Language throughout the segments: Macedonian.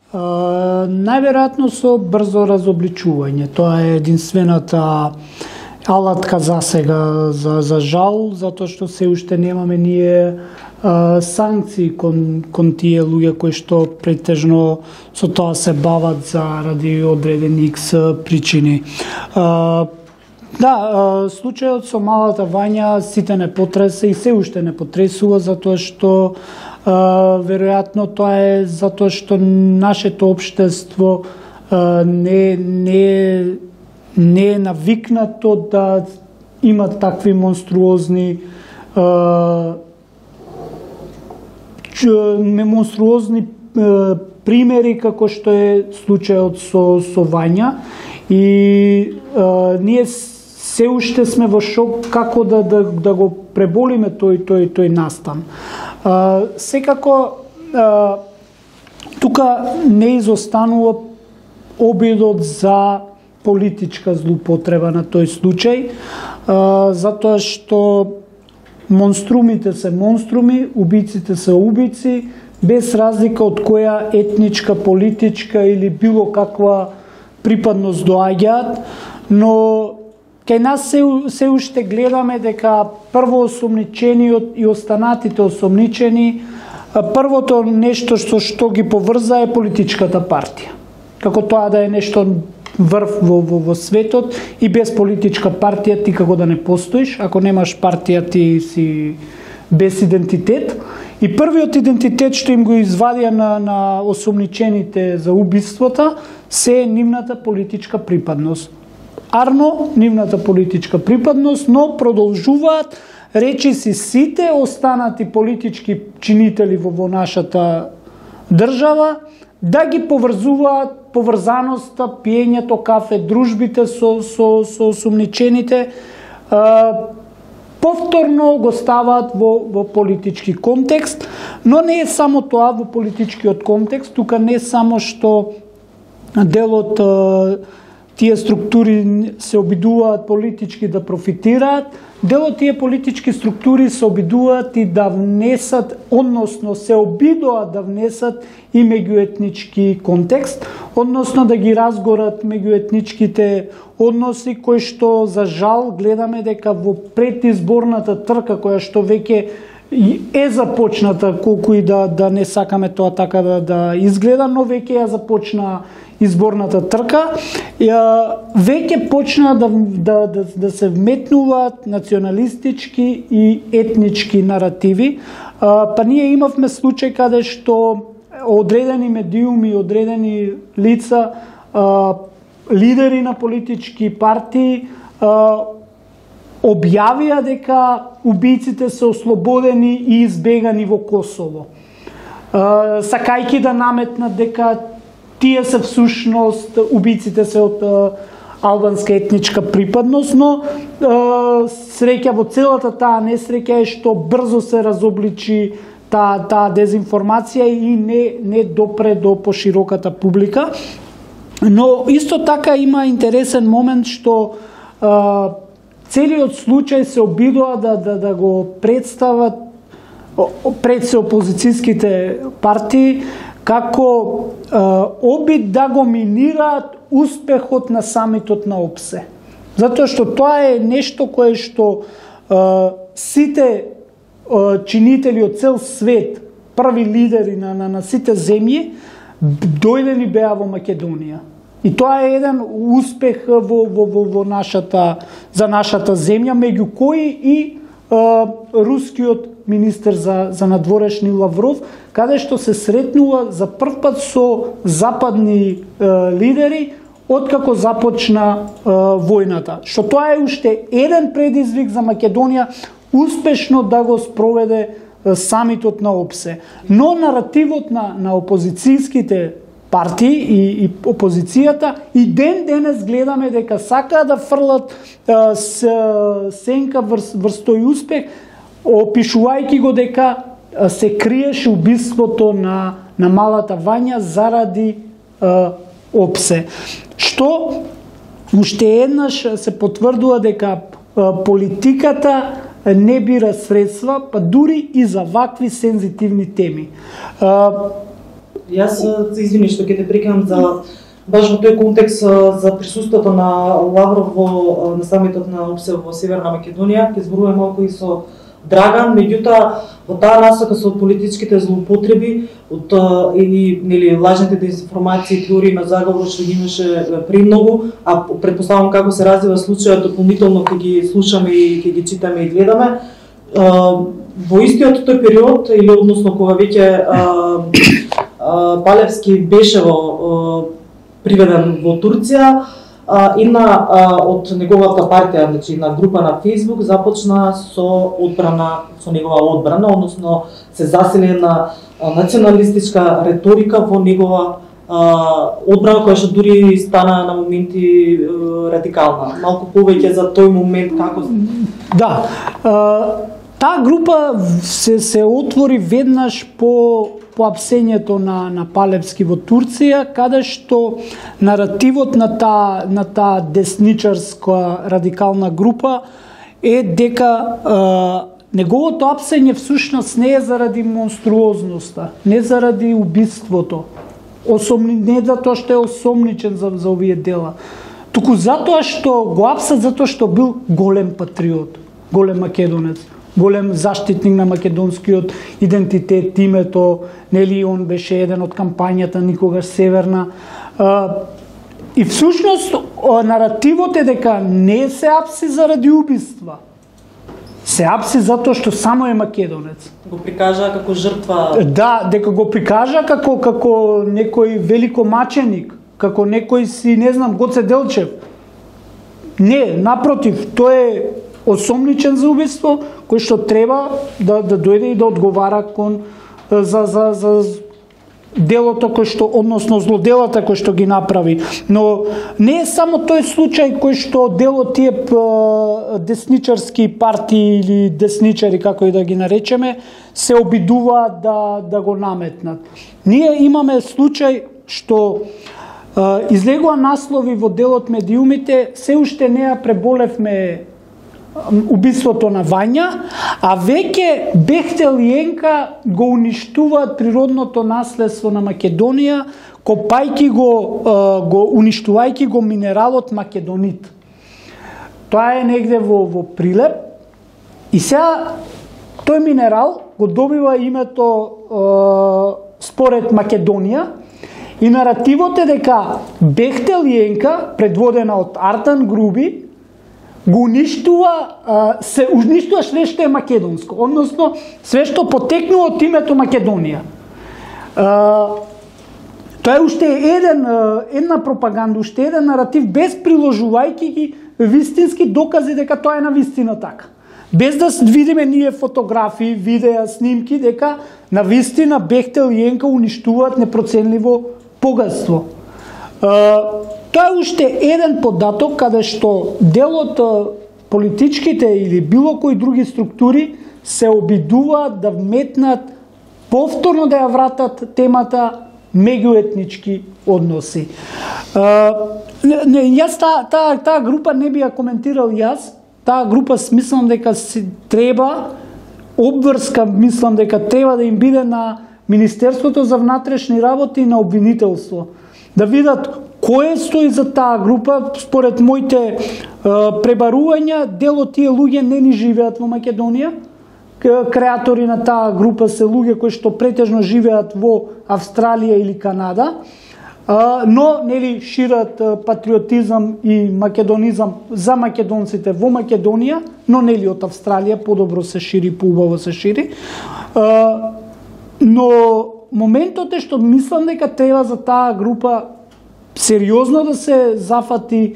Најверојатно со брзо разобличување. Тоа е единствената алатка за сега, за жал, затоа што се уште немаме ние санкции кон тие луѓе кои што претежно со тоа се бават заради одредени X причини. Случајот со малата Вања сите не потресе и се уште не потресува, затоа што веројатно тоа е затоа што нашето општество не е навикнато да има такви монструозни примери како што е случајот со Вања, и ние се уште сме во шок како да го преболиме тој настан. Секако тука не изостанува обидот за политичка злоупотреба на тој случај, затоа што монструмите се монструми, убиците се убици, без разлика од која етничка, политичка или било каква припадност доаѓаат, но кај нас се уште гледаме дека прво осомничениот и останатите осомничени, првото нешто што ги поврза е политичката партија. Како тоа да е нешто врв во светот, и без политичка партија ти како да не постоиш, ако немаш партија ти си без идентитет. И првиот идентитет што им го извадија на осомничените за убиствата се нивната политичка припадност. Арно, нивната политичка припадност, но продолжуваат речиси сите останати политички чинители во нашата држава да ги поврзуваат поврзаноста, пиењето кафе, дружбите со осомничените, повторно го ставаат во политички контекст, но не е само тоа во политичкиот контекст, тука не само што делот тие структури се обидуваат политички да профитираат, дел од тие политички структури се обидуваат и да внесат, односно се обидуваат да внесат и меѓуетнички контекст, односно да ги разгорат меѓуетничките односи кои што за жал гледаме дека во предизборната трка која што веќе е започната, колку и да не сакаме тоа така да изгледа, но веќе ја започна изборната трка, веќе почна да се вметнуваат националистички и етнички наративи. Па ние имавме случај каде што одредени медиуми, одредени лица, лидери на политички партии објавија дека убиците се ослободени и избегани во Косово, сакајќи да наметнат дека тие се всушност убиците се од албанска етничка припадност, но среќа во целата таа несреќа е што брзо се разобличи таа дезинформација и не допре до пошироката публика. Но исто така има интересен момент што целиот случај се обидува да го представат пред се опозицијските партии како обид да го минираат успехот на самитот на ОПСЕ. Затоа што тоа е нешто кое што сите чинители од цел свет, први лидери на сите земји, дојдени беа во Македонија. И тоа е еден успех во за нашата земја, меѓу кои и рускиот министер за надворешни Лавров, каде што се сретнува за прв пат со западни лидери откако започна војната. Што тоа е уште еден предизвик за Македонија успешно да го спроведе самитот на ОПСЕ. Но наративот на опозицијските партии и опозицијата и денес гледаме дека сакаат да фрлат сенка врз тој успех, опишувајќи го дека се криеше убиството на малата Вања заради ОПСЕ. Што уште еднаш се потврдува дека политиката не бира средства, па дури и за вакви сензитивни теми. Јас се извини што ќе те прекинам за баш во тој контекст за присуството на Лавров во на самитот на ОПСЕ во Северна Македонија, ќе зборуваме малку и со Драган, меѓутоа во таа насока со политичките злоупотреби од или нели лажните дезинформации, теории на заговор што ги имаше премногу, а претпоставувам како се развива случајот, дополнително ќе ги слушаме и ќе ги читаме и гледаме. Во истиот тој период или односно кога веќе Палевски беше приведен во Турција, од неговата партија, значи на група на Facebook започна со одбрана, со негова одбрана, односно се засили на националистичка реторика во негова одбрана, која што дури стана на моменти радикална. Малку повеќе за тој момент како... Да, таа група се отвори веднаш по апсењето на Палевски во Турција, каде што наративот на таа десничарска радикална група е дека неговото апсење всушност не е заради монструозноста, не заради убиството, не затоа што е осомничен за овие дела, туку затоа што го апсат затоа што бил голем патриот, голем македонец, голем заштитник на македонскиот идентитет, името, нели он беше еден од кампањата Никогаш Северна. И всушност наративот е дека не се апси заради убиства. Се апси затоа што само е македонец. Го прикажа како жртва. Да, дека го прикажа како некој великомаченик, како некој си, не знам, Гоце Делчев. Не, напротив, тој е осомничен за убиство, кој што треба да дојде и да одговара за делото кој што, односно злоделата кој што ги направи. Но не е само тој случај кој што дел од тие десничарски партии или десничари, како и да ги наречеме, се обидуваат да го наметнат. Ние имаме случај што излегува наслови во делот Медиумите, се уште не ја преболевме убиството на Вања, а веќе Бехтел и Енка го уништуваат природното наследство на Македонија, копајки го уништувајќи го минералот македонит. Тоа е негде во Прилеп и сега тој минерал го добива името според Македонија и наративот е дека Бехтел и Енка, предводена од Артан Груби, го се уништува све што е македонско, односно све што потекнува од името Македонија. Тоа е уште една пропаганда, уште еден наратив, без приложувајќи ги вистински докази дека тоа е на вистина така. Без да видиме ние фотографии, видеа, снимки, дека на вистина Бехтел и Енка уништуваат непроценливо богатство. Тоа е уште еден податок каде што дел од политичките или било кои други структури се обидуваат да вметнат, повторно да ја вратат темата меѓуетнички односи. Јас таа група не би ја коментирал јас, таа група смислам дека треба обврска, мислам дека треба да им биде на Министерството за внатрешни работи и на обвинителство. Да видат кој стои за таа група. Според моите пребарувања, дел од тие луѓе не ни живеат во Македонија. Креатори на таа група се луѓе кои што претежно живеат во Австралија или Канада, но нели шират патриотизам и македонизам за македонците во Македонија, но нели од Австралија подобро се шири, поубаво се шири. Но моментот е што мислам дека треба за таа група сериозно да се зафати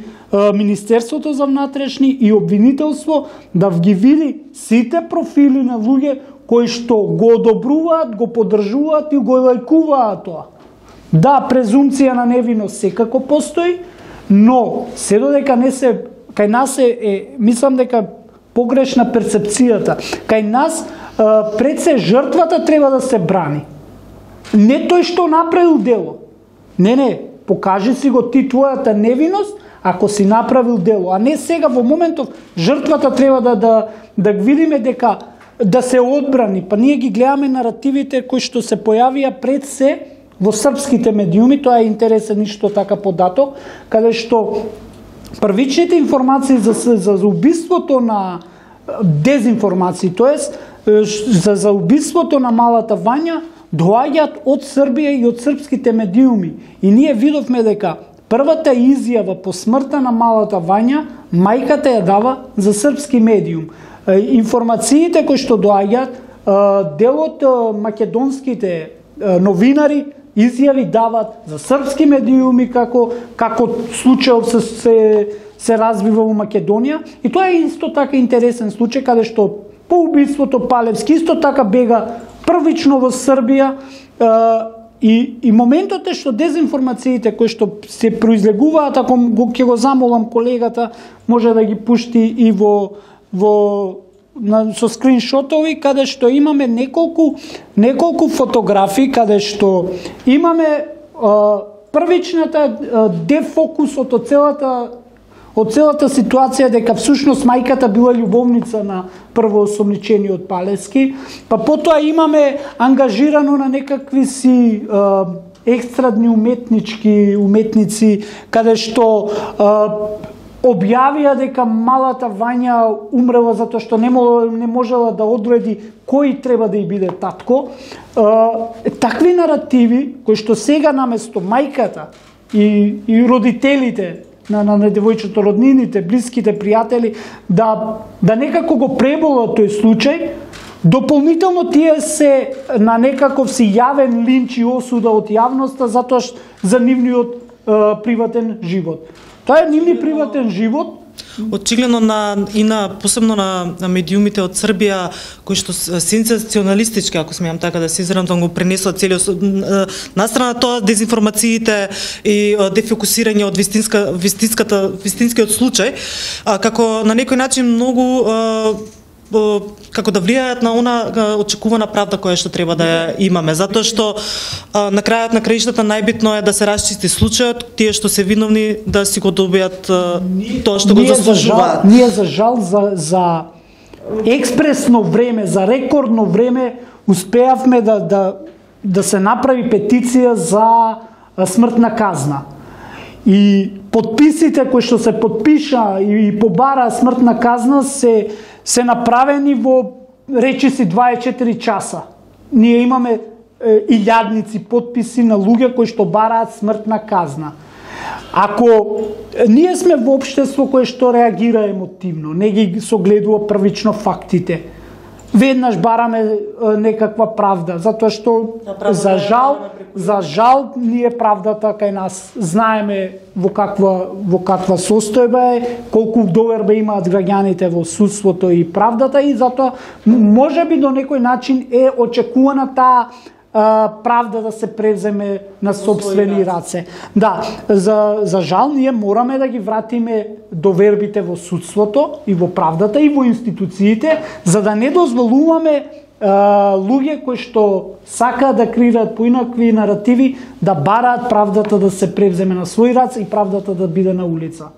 Министерството за внатрешни и обвинителство, да ги види сите профили на луѓе кои што го одобруваат, го поддржуваат и го лајкуваат тоа. Да, презумција на невиност секако постои, но се додека не се, кај нас мислам дека погрешна перцепцијата. Кај нас пред се жртвата треба да се брани. Не тој што направил дело. Не, покажи си го ти твојата невиност ако си направил дело, а не сега во моментов жртвата треба да видиме дека да се одбрани. Па ние ги гледаме наративите кои што се појавија пред се во српските медиуми, тоа е интересен ништо така податок, каде што првичните информации за убиството на дезинформации, тоест за убиството на малата Вања доаѓаат од Србија и од српските медиуми. И ние видовме дека првата изјава по смртта на малата Вања, мајката ја дава за српски медиум. Информациите кои што доаѓаат, дел од македонските новинари изјави дават за српски медиуми како случајот се развива во Македонија, и тоа е исто така интересен случај каде што по убиството Палевски исто така бега првично во Србија, и моментот е што дезинформациите кои што се произлегуваат, ако ќе го замолам колегата, може да ги пушти и со скриншотови, каде што имаме неколку фотографии, каде што имаме првичната дефокусот од целата ситуација, дека всушност мајката била љубовница на првоосомничениот Палевски, па потоа имаме ангажирано на некакви си екстрадни уметници, каде што објавија дека малата Вања умрела затоа што не можела да одреди кој треба да ја биде татко. Такви наративи кои што сега наместо мајката и родителите на девојчето, роднините, блиските пријатели да некако го преболат тој случај, дополнително тие се на некаков си јавен линч и осуда од јавноста затоа за нивниот приватен живот. Тоа е нивни приватен живот. Очигледно посебно на медиумите од Србија, кои што сензационалистички, ако смеам така да се изразам, го пренесува целиот, настрана тоа дезинформациите и дефокусирање од вистинскиот случај, како на некој начин многу како да влијаат на она очекувана правда која што треба да ја имаме, затоа што на крајот на краиштата најбитно е да се расчисти случајот, тие што се виновни да си го добијат тоа што го заслужуваат. Ние за жал за експресно време, за рекордно време успеавме да се направи петиција за смртна казна. И подписите кои што се подпиша и побара смртна казна се направени во речиси 24 часа. Ние имаме илјадници подписи на луѓе кои што бараат смртна казна. Ако ние сме во општество кое што реагира емотивно, не ги согледува првично фактите, веднаш бараме некаква правда, затоа што за жал ние правдата кај нас знаеме во каква состојба е, колку доверба имаат граѓаните во судството и правдата, и затоа можеби до некој начин е очекувана таа правда да се превземе на собствени раце. Да, за жал ние мораме да ги вратиме довербите во судството и во правдата и во институциите, за да не дозволуваме луѓе кои што сакаат да креираат поинакви наративи да бараат правдата да се превземе на свој раце и правдата да биде на улица.